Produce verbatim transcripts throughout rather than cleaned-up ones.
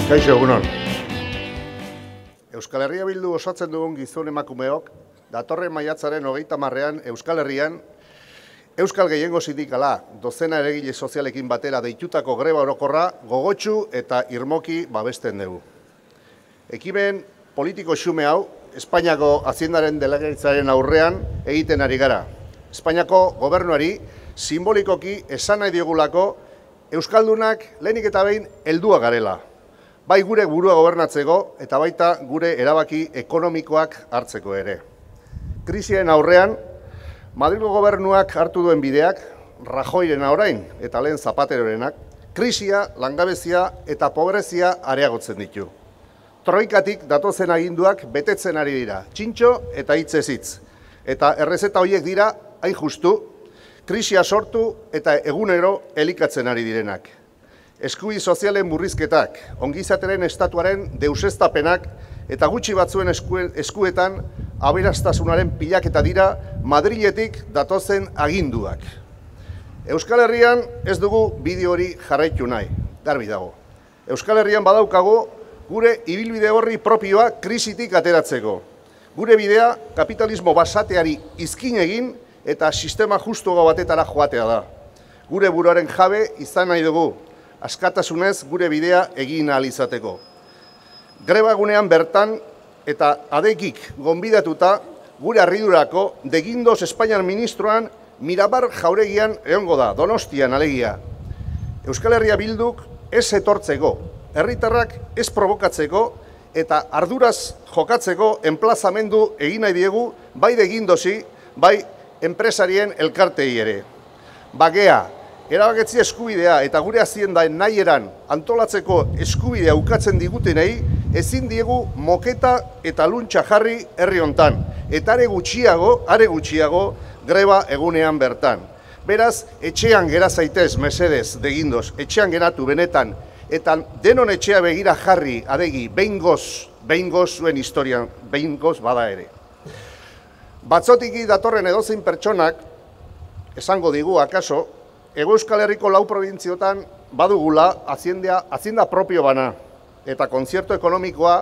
Kaixo egunon. Euskal Herria Bildu osatzen dugun gizon emakumeok, datorren maiatzaren hogeita marrean Euskal Herrian, Euskal Gehiengo Sindikala, dozena eragile sozialekin batera deitutako greba orokorra gogotsu eta irmoki babesten dugu. Ekimen politiko xume hau, Espainiako Haziendaren Delegaritzaren aurrean egiten ari gara. Espainiako gobernuari simbolikoki esan nahi diogulako Euskaldunak lehenik eta behin heldua garela. Bai gure burua gobernatzeko eta baita gure erabaki ekonomikoak hartzeko ere. Krisien aurrean, Madrilgo gobernuak hartu duen bideak, Rajoyrena orain eta lehen Zapaterorenak, krisia, langabezia eta pobrezia areagotzen ditu. Troikatik datozen aginduak betetzen ari dira, txintxo eta hitzez hitz. Eta errezeta horiek dira, hain justu, krisia sortu eta egunero elikatzen ari direnak. Eskubi sozialen murrizketak, ongizateren estatuaren deuseztapenak eta gutxi batzuen eskuetan aberastasunaren pilaketa dira Madriletik datozen aginduak. Euskal Herrian ez dugu bideo hori jarraitu nahi, garbi dago. Euskal Herrian badaukagu gure ibilbide horri propioa krisitik ateratzeko. Gure bidea kapitalismo basateari izkin egin eta sistema justuago batetara joatea da. Gure buruaren jabe izan nahi dugu, askatasunez gure bidea egin ahal izateko. Greba egunean bertan eta adekik gonbidatuta gure harridurako degindoz Espainiar ministroan Mirabar jauregian egongo da, Donostian alegia. Euskal Herria Bilduk ez etortzeko, herritarrak ez provokatzeko eta arduraz jokatzeko enplazamendu egin nahi diegu bai degindozi, bai enpresarien elkartei ere. Bagea, erabaketzi eskubidea eta gure haziendaen nahieran antolatzeko eskubidea ukatzen digutenei, ezin diegu moketa eta luntxa jarri herri hontan, eta are gutxiago, are gutxiago greba egunean bertan. Beraz, etxean gera zaitez, mesedez, degindoz, etxean geratu benetan, eta denon etxea begira jarri, adegi, behingoz, behingoz zuen historian, behingoz bada ere. Batzotiki datorren edozein pertsonak, esango digu, akaso, Hego Euskal Herriko lau probintziotan badugula hazienda, hazienda propio bana eta kontzierto ekonomikoa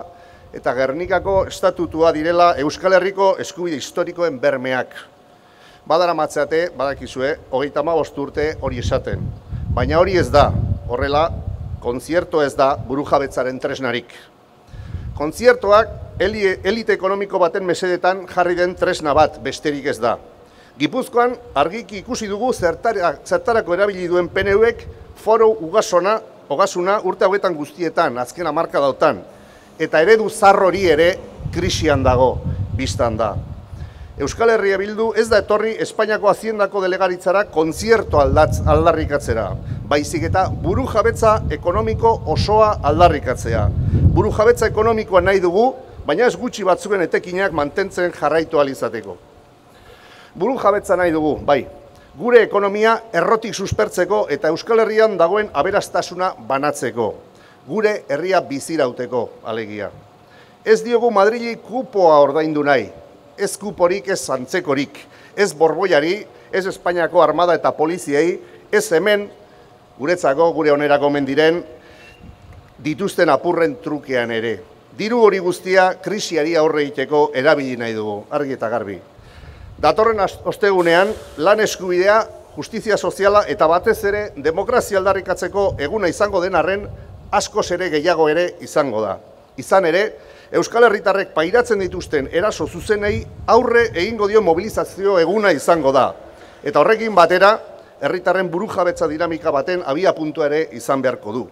eta Gernikako estatutua direla Euskal Herriko eskubide historikoen bermeak. Badara matzeate, badakizue, hogeita hamabost urte hori esaten. Baina hori ez da, horrela, kontzierto ez da burujabetzaren tresnarik. Kontziertoak elite ekonomiko baten mesedetan jarri den tresna bat besterik ez da. Gipuzkoan argiki ikusi dugu zertarako erabili duen P N Uek foro ugasona, ogasuna urte hauetan guztietan, azken hamarka dautan. Eta eredu zarrori ere krisian dago, biztan da. Euskal Herria Bildu ez da etorri Espainiako Haziendako Delegaritzara kontzierto aldarrikatzera, baizik eta burujabetza ekonomiko osoa aldarrikatzea. Burujabetza ekonomikoa nahi dugu, baina ez gutxi batzuen etekinak mantentzen jarraitu ahal izateko. Burujabetza nahi dugu, bai, gure ekonomia errotik suspertzeko eta Euskal Herrian dagoen aberastasuna banatzeko, gure herria bizirauteko, alegia. Ez diogu Madrili kupoa ordaindu nahi, ez kuporik, ez antzekorik, ez borboiari, ez Espainiako armada eta poliziei, ez hemen, guretzako, gure onerako mendiren, dituzten apurren trukean ere. Diru hori guztia krisiari aurre egiteko erabili nahi dugu, argi eta garbi. Datorren ostegunean, lan eskubidea, justizia soziala eta batez ere demokrazia aldarrikatzeko eguna izango den arren, askoz ere gehiago ere izango da. Izan ere, Euskal Herritarrek pairatzen dituzten eraso zuzenei aurre egingo dio mobilizazio eguna izango da. Eta horrekin batera, herritarren burujabetza dinamika baten abia puntua ere izan beharko du.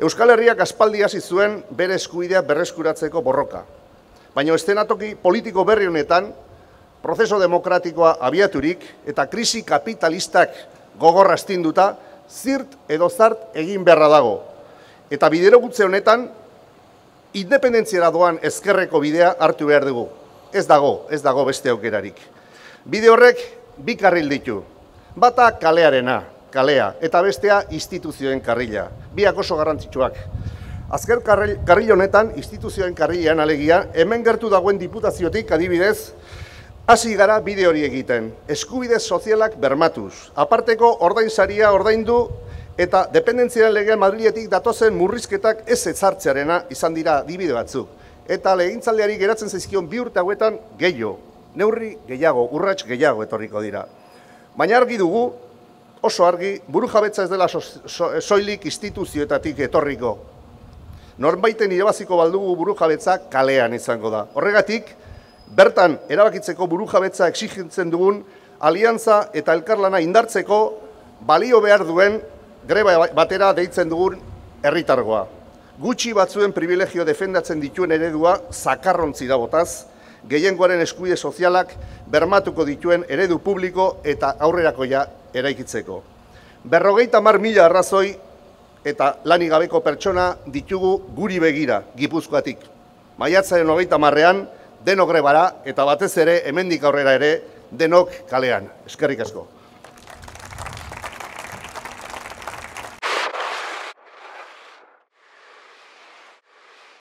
Euskal Herriak aspaldi hasi zuen bere eskubidea berreskuratzeko borroka. Baina eszenatoki politiko berri honetan, prozeso demokratikoa abiaturik eta krisi kapitalistak gogorra astinduta, zirt edo zart egin beharra dago. Eta biderogutze honetan, independentziara doan ezkerreko bidea hartu behar dugu. Ez dago, ez dago beste aukerarik. Bide horrek bi karril ditu. Bata kalearena, kalea, eta bestea instituzioen karrila. Biak oso garrantzitsuak. Azken karril honetan, instituzioen karrilean alegia, hemen gertu dagoen diputaziotik adibidez, hasi gara bide hori egiten, eskubide sozialak bermatuz, aparteko ordainsaria ordaindu eta dependentziaren legean Madriletik datozen murrizketak ez ezartzearena izan dira adibide batzuk. Eta legegintzaldiari geratzen zaizkion bi urte hauetan gehiago, neurri gehiago, urrats gehiago etorriko dira. Baina argi dugu, oso argi, burujabetza ez dela so, so, soilik instituzioetatik etorriko. Norbaiten irabaziko baldugu burujabetza kalean izango da. Horregatik, bertan erabakitzeko burujabetza exigitzen dugun aliantza eta elkarlana indartzeko balio behar duen greba batera deitzen dugun herritargoa. Gutxi batzuen privilegio defendatzen dituen eredua zakarrontzi da botaz, gehiengoaren eskubide sozialak bermatuko dituen eredu publiko eta aurrerakoia eraikitzeko. Berrogeita hamar mila arrazoi eta lanik gabeko pertsona ditugu guri begira, Gipuzkoatik. Maiatzaren hogeita hamarrean denok grebara eta batez ere hemendik aurrera ere denok kalean. Eskerrik asko.